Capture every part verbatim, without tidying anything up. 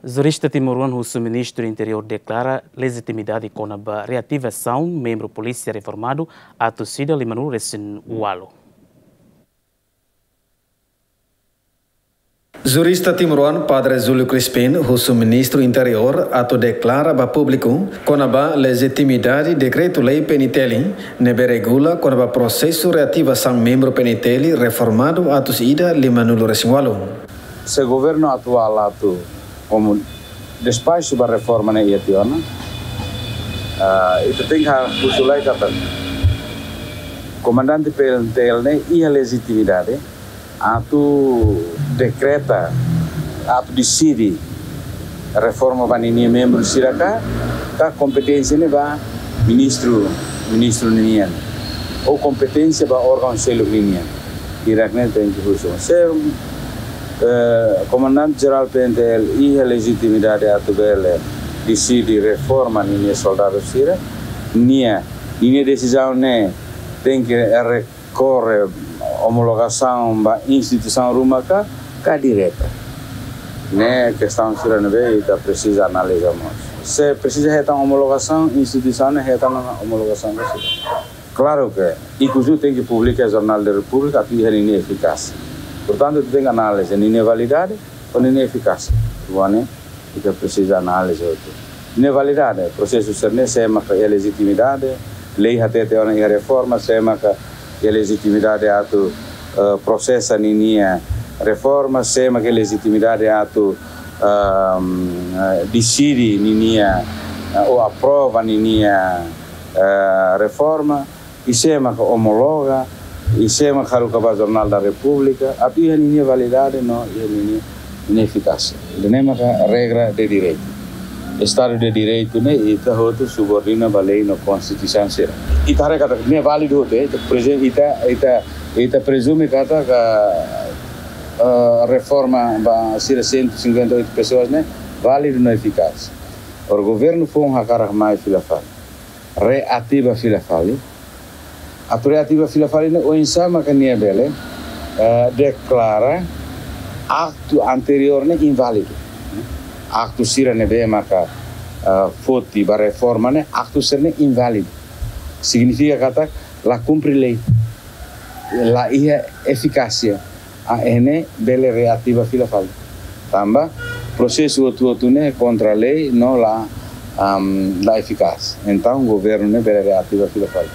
Jurista timoroan husu Ministru Interiór deklara lejitimidade kona-ba reativasaun membru polísia reformadu atus ida limanulu resin ualu. Jurista timoroan Padre Júlio Crispim husu Ministru Interiór atu deklara ba públiku kona-ba lejitimidade dekretu-lei P N T L ne'ebé regula kona-ba prosesu reativasaun membru P N T L reformadu atus ida limanulu resin ualu. Se governu atuál atu komu despaxu ba reforma ne'e iha tiha ona, ah, ita tenke husu lai katak komandante P N T L ne'e iha lejitimidade atu dekreta, atu deside reforma ba ninia membru sira ka, ka kompeténsia ne'e ba ministru, ministru ninian, ou kompeténsia ba órgaun seluk ninian. Hirak ne'e tenke husu. Se, eh, komandante jerál P N T L iha lejitimidade atu bele deside reforma ninia soldadu sira, nia, ninia desizaun ne'e tenke rekorre omologasaun ba instituisaun ruma ka, ka direta. Ne'e kestaun sira ne'ebé ita presiza analiza mós. Se presiza hetan omologasaun, instituisaun ne'e hetan ona omologasaun ba sira. Klaru ke ikus liu tenke publika iha Jornál da Repúblika atu iha ninia efikásia. Portantu, ita tenke analiza ninia validade ho ninia efikásia. Rua ne'e ita presiza analiza hotu. Ninia validade, prosesu sira-ne'e sé maka iha lejitimidade, lei hatete ona iha reforma, sé maka iha lejitimidade atu, eh, prosesa ninia reforma, sé maka iha lejitimidade atu, ehm, eh, deside ninia, eh, ou aprova ninia, eh, reforma, i sé maka omologa, i sé maka haruka ba Jornál da Repúblika, atu iha ninia validade no iha ninia, ninia efikásia. Ida-ne'e maka regra de direitu. Estadu de direitu ne'e ita hotu subordina ba lei no konstituisaun sira. Ita haree katak ne'e válidu hotu, eh. Ita, por ezemplu, ita, ita, ita prezume katak, eh, reforma ba sira cento e cinquenta e oito pessoas ne'e válidu no efikás. Agora governu foun hakarak mai fila fali, reativa fila fali. Atu reativa fila fali ne'e oinsá maka nia bele, eh, deklara aktu anteriór ne'e inválidu. Aktu sira ne'ebé maka, eh, foti ba reforma ne'e, aktu sira-ne'e inválidu. Signifika katak la kumpre lei, la iha efikásia. Ah, ne'e bele reativa fila fali. Tanba prosesu hotu-hotu ne'e kontra lei no la, am, la efikás. Entaun governu ne'e bele reativa fila fali.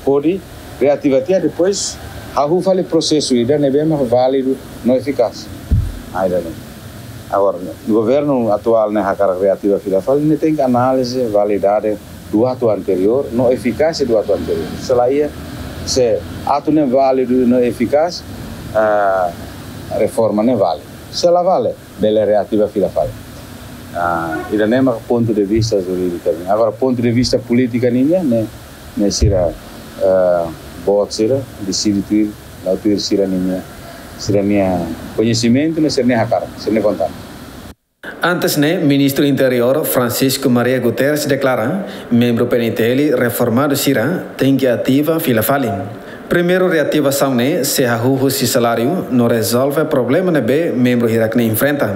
Hodi reativa tiha, depois hahú fali prosesu ida ne'ebé mak válidu no efikás. Ah, ida-ne'e. Agora, governu atuál ne'e hakarak reativa fila fali, ne'e tenke analiza validade do atu anteriór no efikásia do atu anteriór. Se la iha, se atu ne'e válidu no efikás, ah, reforma ne'e vale. Se la vale, bele reativa fila fali. Ah, ida-ne'e mak pontu de vista jurídika nian. Agora, pontu de vista polítika nian, ne'e, ne'e sira, eh, boot sira deside tuir, la'o tuir sira-nia, sira-nia koñesimentu, ne'e sira-nia hakarak, sira-nia vontade. Antes ne'e, Ministru Interiór Francisco Maria Guterres deklara, membru P N T L reformadu sira tenke ativa fila fali. Primeiru reativasaun ne'e sei hahú husi saláriu no rezolve problema ne'ebé membru hirak-ne'e enfrenta.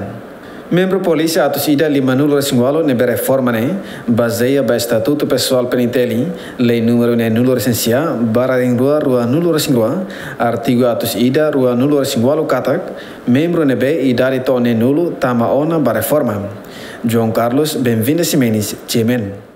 Membru polísia atus ida limanulu resin ualu ne'ebé reforma ne'e bazeia ba Estatutu Pesoál P N T L, Lei númeru neenulu resin sia, barra neen rua, ruanulu resin rua, artigu atus ida, ruanulu resin ualu katak, membru ne'ebé idade to'o neenulu tama ona ba reforma. João Carlos Benvinda Ximenes, G M N.